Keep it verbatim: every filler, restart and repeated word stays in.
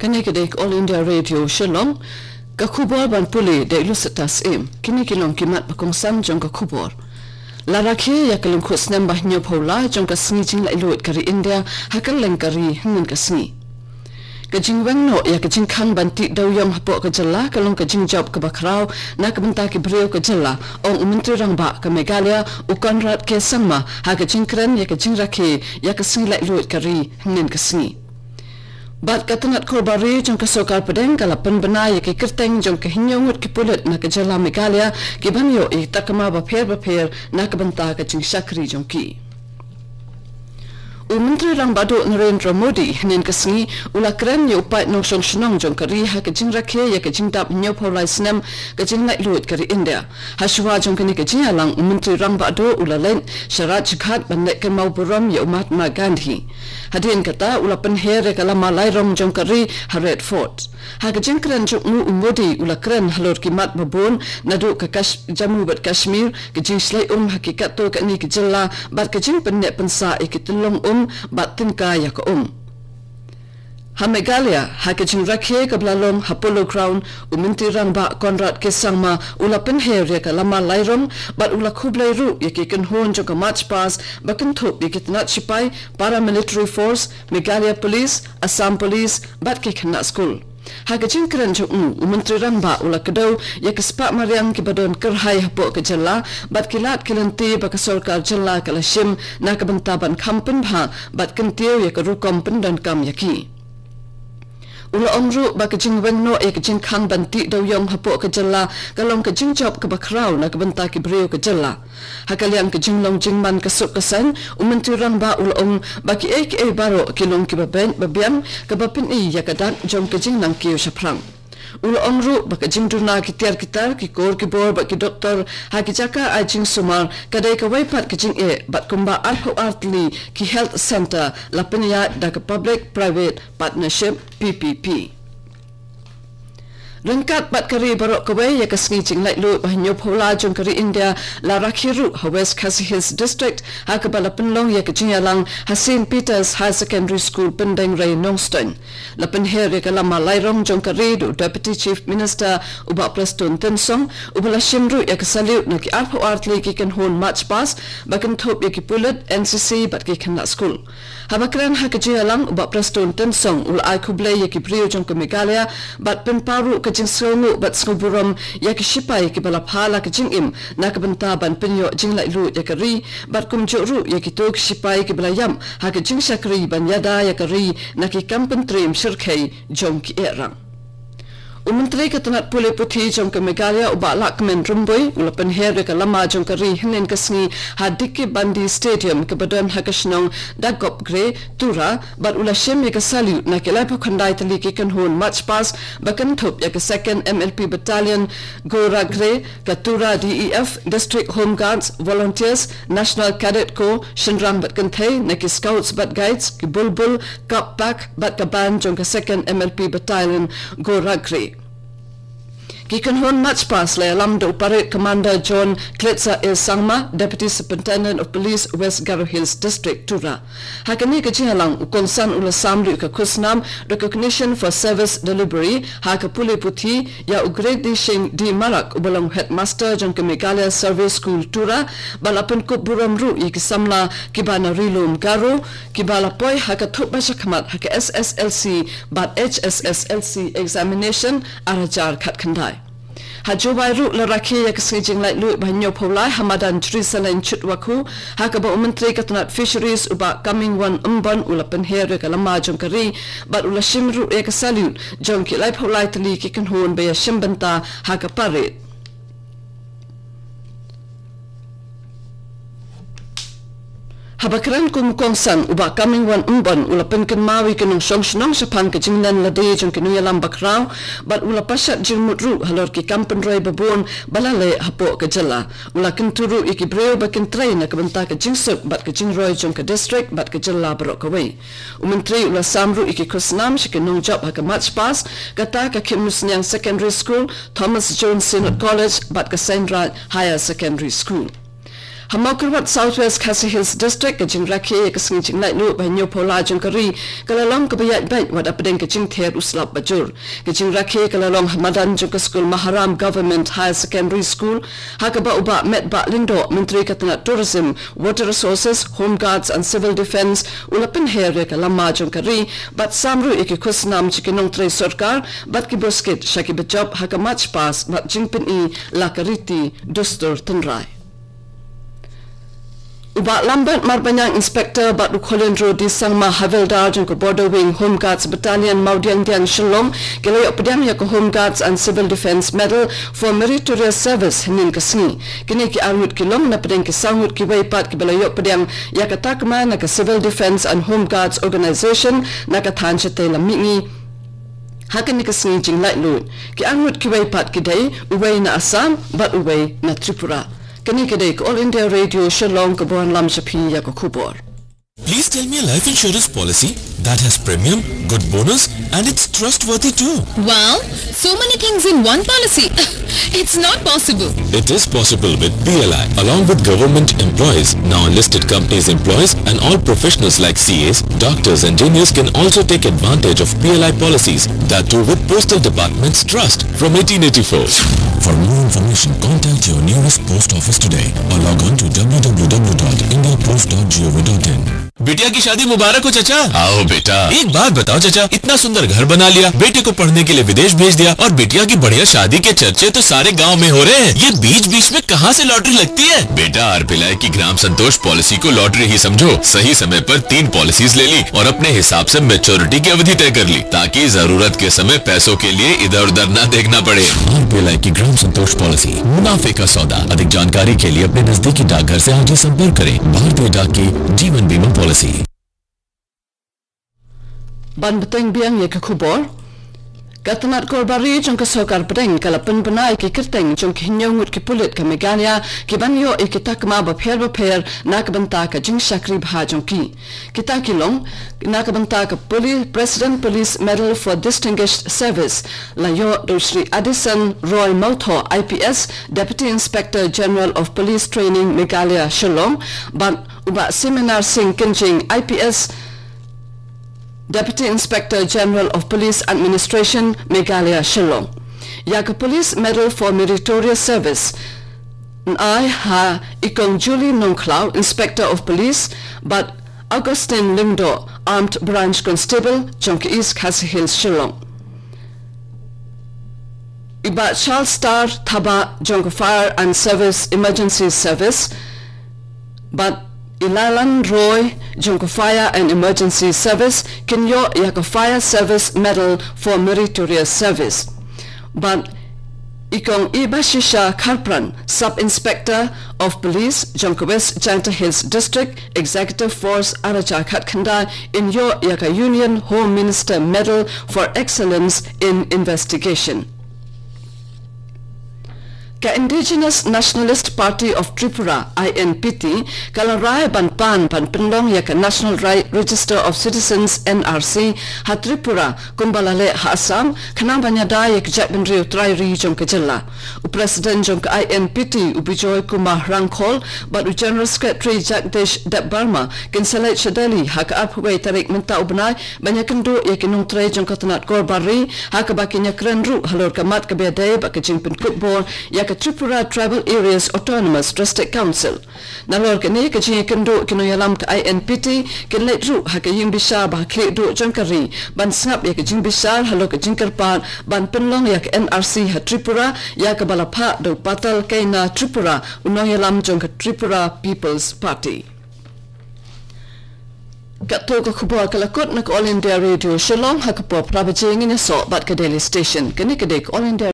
Kane ka dei ka All India Radio Shillong. Ka khubor ban pule da i Lucetta Syiem. Kine ki long ki mat ba kongsan jong ka khubor. La rakhe ïa ka lyngkhuh snem ba hynñiewphew lai jong ka sngi jinglaitluid ka ri India ha kylleng ka ri hynnin ka sngi. Ka jingweng noh ïa ka jingkhang ban tih dewïong hapoh ka jylla ka long ka jingjop kaba khraw na ka bynta ki briew ka jylla, ong u Myntri Rangbah ka Meghalaya u Conrad K Sangma ha ka jingkren ïa ka jingrakhe ïa ka sngi laitluid ka ri hynnin ka sngi. Bad ka tnat khorbari jong ka sorkar pdeng ka la pynbna ïa ki kyrteng jong ka hynñiew ngut ki pulit na ka jylla Meghalaya ki ban ïoh ïa ki takma bapher bapher na ka bynta ka jingshakri jong ki. U Myntri Rangbah Duh Narendra Modi hynnin ka sngi u la kren ïa u paid nongshong shnong jong ka ri ha ka jingrakhe ïa ka jingdap hynñiewphew lai snem ka jinglaitluid ka ri India. Ha shuwa jong kane ka jingïalang u Myntri Rangbah Duh u la leit sha Rajghat ban leit kynmaw burom ïa u Mahatma Gandhi. Hadien kata u la pynher ïa ka lama lairong jong ka ri ha Red Fort. Ha ka jingkren jong u u Modi u la kren halor ki mat babun naduh ka Kash-, Jammu bad Kashmir, ka jingshlei um ha ki katto katne ki jylla bad ka jingpyneh pynsah ïa ki tyllong um bad tyngkai ïa ka um. Ha Meghalaya, ha ka jingrakhe kaba la long ha Polo Ground, u Myntri Rangbah Conrad K Sangma u la pynher ïa ka lama lairong bad u la khublei ruh ïa ki kynhun jong ka March Past ba kynthup ïa ki tnat shipai, Paramilitary Force, Meghalaya Police, Assam Police bad ki khynnah skul. Ha ka jingkren jong u, u Myntri Rangbah u la kdew ïa ki spah mariang kiba don kyrhai hapoh ka jylla bad ki lad ki lynti ba ka sorkar jylla ka la shim na ka bynta ban kham pynbha bad kyntiew ïa ka rukom pyndonkam ïa ki. U la ong ruh ba ka jingweng noh ïa ka jingkhang ban tih dewïong hapoh ka jylla ka long ka jingjop kaba khraw na ka bynta ki briew ka jylla. Ha ka liang ka jinglong jingman ka suk ka saiñ, u Myntri Rangbah u la ong ba kiei kiei baroh ki long kiba beit ba biang kaba pyni ïa ka dak jong ka jingnang kiew shaphrang. U la ong ruh ba ka jingduna ki tiar ki tar, ki kor ki bor bad ki doktor ha ki jaka ai jingsumar ka dei kawei pat ka jingeh bad kumba arphew ar tylli ki health centre la pynïaid da ka public private partnership, P P P. Ryngkat bad ka ri baroh kawei, ïa ka sngi jinglaitluid ba hynñiewphew lai jong ka ri India la rakhe ruh ha West Khasi Hills District, ha kaba la pynlong ïa ka jingïalang ha Saint Peter's Higher Secondary School, Pyndengrei, Nongstoiñ. La pynher ïa ka lama lairong jong ka ri da u Deputy Chief Minister u Bah Prestone Tynsong, uba la shim ruh ïa ka salute na ki arphew ar tylli ki kynhun March Past ba kynthup ïa ki pulit, N C C bad ki khynnah skul. Haba kren ha ka jingïalang, u Bah Prestone Tynsong u la ai khublei ïa ki briew jong ka Meghalaya bad pynpaw ruh ka jingsngewnguh bad sngewburom ïa ki shipai kiba la phah la ka jingim na ka bynta ban pynïoh jinglaitluid ïa ka ri bad kumjuh ruh ïa kito ki shipai kiba la ïap ha ka jingshakri ban ïada ïa ka ri na ki kam pyntriem shyrkhei jong ki eh rang. U Myntri ka tnat pule puthi jong ka Meghalaya u Bah Lahkmen Rymbui u la pynher ïa ka lama jong ka ri hynnin ka sngi ha D K Bandy Stadium kaba don ha ka shnong Dakopgre, Tura, bad u la shim ïa ka salute na ki laiphew khyndai tylli ki kynhun March Past ba kynthup ïa ka Second M L P Battalion, Goragre, ka Tura D E F, District Home Guards, Volunteers, National Cadet Corps, shynrang bad kynthei, na ki Scouts bad Guides, ki Bulbul, Kap Pak bad ka band jong ka Second M L P Battalion, Goragre. Ki kynhun March Past la ïalam da u Parade Commander John Klitsa A Sangma, Deputy Superintendent of Police, West Garo Hills District, Tura. Ha kane ka jingïalang, u kongsan u la sam ruh ïa ka khusnam Recognition for Service Delivery ha ka pule puthi ïa u Great D Shing D Marak uba long Headmaster jong ka Meghalaya Survey School, Tura, bad la pynkup burom ruh ïa ki samla kiba na Ri Lum Garo kiba la poi ha ka thup ba shakhmat ha ka S S L C bad H S S L C examination ar hajar khatkhyndai. Ha Jowai ruh la rakhe ïa ka sngi jinglaitluid ba hynñiewphew lai ha madan Jrisaleiñ Chutwakhu, ha kaba u Myntri ka tnat Fisheries u Bah Comingone Ymbon u la pynher ïa ka lama jong ka ri bad u la shim ruh ïa ka salute jong ki laiphew lai tylli ki kynhun ba ïashim bynta ha ka parade. Haba kren kum u kongsan, u Bah Comingone Ymbon u la pynkynmaw ïa ki nongshong shnong shaphang ka jinglen lade jong ki nongïalam bakhraw bad u la pashat jingmut ruh halor ki kam pynroi babun ba la leh hapoh ka jylla. U la kyntu ruh ïa ki briew ba kin trei na ka bynta ka jingsuk bad ka jingroi jong ka district bad ka jylla baroh kawei. U Myntri u la sam ruh ïa ki khusnam sha ki nongjop ha ka March Past, kata ka Khynmusniang Secondary School, Thomas Jones Synod College bad ka Seiñraij Higher Secondary School. Ha Mawkyrwat, South West Khasi Hills District, ka jingrakhe ïa ka sngi jinglaitluid ba hynñiewphew lai jong ka ri ka la long kaba ïaid beit wat hapdeng ka jingther u slap ba jur. Ka jingrakhe ka la long ha madan jong ka skul Maharam Government Higher Secondary School, ha kaba u Bah Metbah Lyngdoh, Myntri ka tnat Tourism, Water Resources, Home Guards and Civil Defence, u la pynher ïa ka lama jong ka ri bad sam ruh ïa ki khusnam jong ki nongtrei sorkar bad ki buskit sha kiba jop ha ka march past bad jingpyni la ka riti dustur tynrai. U Bah Lambert Marbaniang, Inspector, bad u Kholendro D Sangma, Havildar jong ka Border Wing Home Guards Battalion, Mawdiangdiang, Shillong, ki la ïoh pdiang ïa ka Home Guards and Civil Defence Medal for Meritorious Service hynnin ka sngi. Kine ki arngut ki long na pdeng ki saw ngut kiwei pat kiba la ïoh pdiang ïa ka takma na ka Civil Defence and Home Guards Organisation na ka thaiñ shatei lam mihngi ha kane ka sngi jinglaitluid. Ki arngut kiwei pat ki dei uwei na Assam bad uwei na Tripura. Kane ka dei ka All India Radio Shillong kaba wanlam sha phi ïa ka khubor. Please tell me a life insurance policy that has premium, good bonus, and it's trustworthy too. Wow, so many things in one policy. It's not possible. It is possible with P L I. Along with government employees, now enlisted companies' employees, and all professionals like C As, doctors, engineers can also take advantage of P L I policies. That too with Postal Department's trust from eighteen eighty-four. For more information, contact your nearest post office today or log on to w w w dot india post dot g o v dot in. बिटिया की शादी मुबारक हो चाचा। आओ बेटा। एक बात बताओ चाचा, इतना सुंदर घर बना लिया, बेटे को पढ़ने के लिए विदेश भेज दिया और बिटिया की बढ़िया शादी के चर्चे तो सारे गांव में हो रहे हैं। ये बीच बीच में कहाँ से लॉटरी लगती है? बेटा, आर पी एल आई की ग्राम संतोष पॉलिसी को लॉटरी ही समझो। सही समय पर तीन पॉलिसीज ले ली और अपने हिसाब से मैच्योरिटी की अवधि तय कर ली, ताकि जरूरत के समय पैसों के लिए इधर उधर ना देखना पड़े। आर पी एल आई की ग्राम संतोष पॉलिसी, मुनाफे का सौदा। अधिक जानकारी के लिए अपने नजदीकी डाकघर से आज ही संपर्क करें। भारतीय डाक की जीवन बीमा पॉलिसी। Ban bteng biang ïa ka khubor. Ka tnat kor bari jong ka sorkar pdeng ka la pynbna ïa ki kyrteng jong ki hynñiew ngut ki pulit ka Meghalaya ki ban ïoh ïa ki takma bapher bapher na ka bynta ka jingshakri bha jong ki. Kita ki long na ka bynta ka Poli-, President Police Medal for Distinguished Service, la ïoh da u Shri Addison Roy Mawthoh, I P S, Deputy Inspector General of Police Training, Meghalaya, Shillong, bad u Bah Seminar Singh Kynjing, I P S, Deputy Inspector General of Police Administration, Meghalaya, Shillong. Ïa ka Police Medal for Meritorious Service, nai ha i Kong Julie Nongkhlaw, Inspector of Police, bad Augustine Lyngdoh, Armed Branch Constable, jong ka East Khasi Hills, Shillong. I Bah Charles Star Thabah jong ka Fire and Service Emergency Service, bad i Lalan Roy jong ka Fire and Emergency Service kin ïoh ïa ka Fire Service Medal for Meritorious Service. Bad i Kong Ibashisha Kharpran, Sub Inspector of Police jong ka West Jaintia Hills District, Executive Force ar hajar khatkhyndai, in ïoh ïa ka Union Home Minister Medal for Excellence in Investigation. Ka Indigenous Nationalist Party of Tripura, I N P T, ka la rai ban pan ban pynlong ïa ka National Ri-, Register of Citizens, N R C, ha Tripura, kumba la leh ha Assam, khnang ban ïada ïa ka jaitbynriew trai ri jong ka jylla. U President jong ka I N P T, u Bijoy Kumar Rangkhol, bad u General Secretary Jagdish Debbarma, kin sa leit sha Delhi ha ka arphew wei tarik mynta u bnai, ban ïakynduh ïa ki nongtrei jong ka tnat kor bari, ha kaba kin ïakren ruh halor ka mat kaba ïadei bad ka jingpynkup bor ïa ka Tripura Tribal Areas Autonomous District Council. Nalor kane ka jingïakynduh, ki nongïalam ka I N P T kin leit ruh ha ka ïing bishar ba ha khlieh duh jong ka ri ban sngap ïa ka jingbishar halor ka jingkyrpad ban pynlong ïa ka N R C ha Tripura, ïa kaba la phah da u Patal Keyna Tripura, u nongïalam jong ka Tripura People's Party. Katto ka khubor ka la kut na ka All India Radio Shillong. Ha ka por phra baje ngin ïasoh bad ka Delhi Station. Kane ka dei ka All India